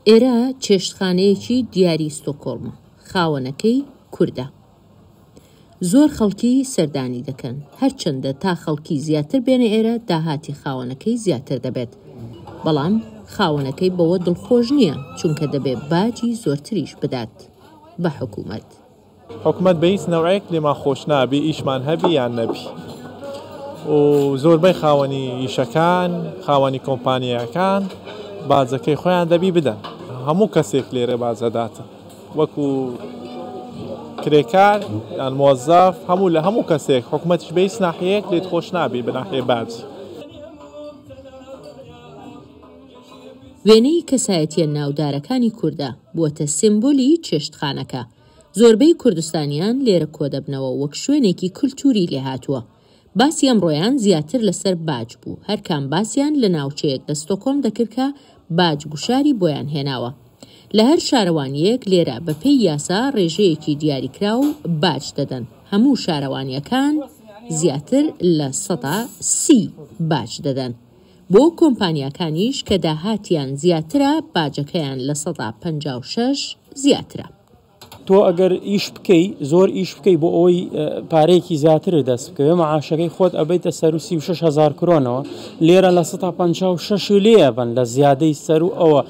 ئێرە چێشتخانەیەکی دیاری ستۆکۆڵمە، خاوەنەکەی کوردە. زۆر خەڵکی سەردانی دەکەن، هەرچەندە تا خەڵکی زیاتر بێنە ئێرە داهاتی خاوەنەکەی زیاتر دەبێت، بەڵام خاوەنەکەی بەوە دڵخۆش نییە، چونکە دەبێ باجی زۆرتریش بدات بە حکومەت. حکومەت بە هیچ نەوعێک لێمان خۆش نابی ئیشمان هەبی یان نەبی و زۆربەی خاوەنی ئیشەکان خاوەنی کۆمپانیاکان باجەکەی خۆیان دەبی بدەن هەموو کەسێک لێرە باج ئەداتن وەکو کرێکار یان مۆزەف هەموو لە هەموو کەسێک حکومەتیش بە هیچ ناحیەیەک لێت خۆش نابی بە ناحیە باج. وێنەی کەسایەتیە ناودارەکانی کوردە بووەتە سیمبولی چێشتخانەکە، زۆربەی کوردستانیان لێرە کۆدەبنەوە وەک شوێنێکی کلتوری لێهاتووە. باسی ئەمڕۆیان زیاتر لەسەر باج بوو، هەرکام باسیان لە ناوچەیەک لە ستۆکۆڵم دەکرد کە باج گوشاری بۆیان هێناوە. لە هەر شارەوانییەک لێرە بەپێی یاسا ڕێژەیەکی دیاریکراو باج دەدەن، هەموو شارەوانییەکان زیاتر 30% باج دەدەن. بۆ کۆمپانیاکانیش کە داهاتیان زیاترە باجەکەیان 56% زیاترە. تۆ ئەگەر ئیش بکەی زۆر ئیش بکەی بۆ ئەوەی پارەیەکی زیاتر دەست بکەوێ معاشەکەی خۆت ئەبیتە سەر و 36 هزار کرۆنەوە لێرە لە 156 لێ ئەبن لە زیادەی سەر و ئەوە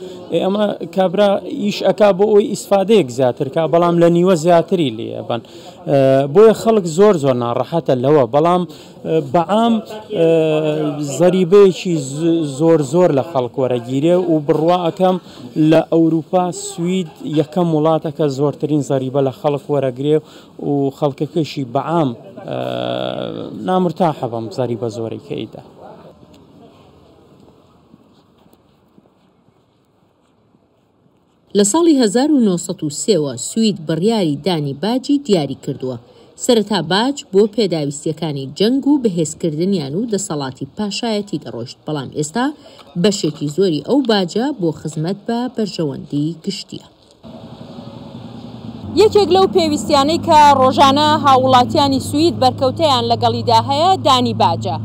ئەمە کابرا ئیش ئەک بۆ ئەوی ئیسفادەیەک زیاتر کا بەڵام لە نیوە زیاتری لێ ئەبن بۆیە خەڵک زۆر زۆر ناڕەحەتە لەوە بەڵام بەعام زەریبەیەکی زۆر زۆر لە خەڵک وەرەگیرێ و بڕوا ئەکەم لە ئەوروپا سوید یەکەم وڵاتە کە زۆرترین زەریبە لە خەڵک وەرەگرێ و خەڵکەکەشی بەعام نامرتاحە بەم زەریبە زۆرەی کە ئەیدا. لە ساڵی 1903 وە سوید بڕیاری دانی باجی دیاری کردووە. سەرەتا باج بۆ پێداویستییەکانی جەنگ و بەهێزکردنیان و دەسەڵاتی پاشایەتی دەڕۆیشت، بەڵام ئێستا بەشێکی زۆری ئەو باجە بۆ خزمەت بە بەرژەوەندی گشتییە. یەکێک لەو پێویستیانەی کە ڕۆژانە هاووڵاتیانی سوید بەرکەوتەیان لەگەڵیدا هەیە دانی باجە.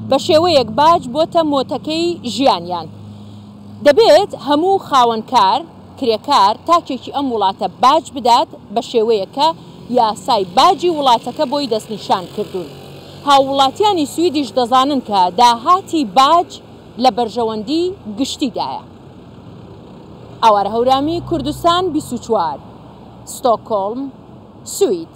بە شێوەیەک باج بۆتە مۆتەکەی ژیانیان. دەبێت هەموو خاوەن کار، کرێکار، تاکێکی ئەم وڵاتە باج بدات بە شێوەیەک کە یاسای باجی وڵاتەکە بۆی دەستنیشان کردوون. هاووڵاتیانی سویدیش دەزانن کە داهاتی باج لە بەرژەوەندی گشتیدایە. ئاوارە هەورامی، کوردستان 24، ستۆکهۆڵم، سوید.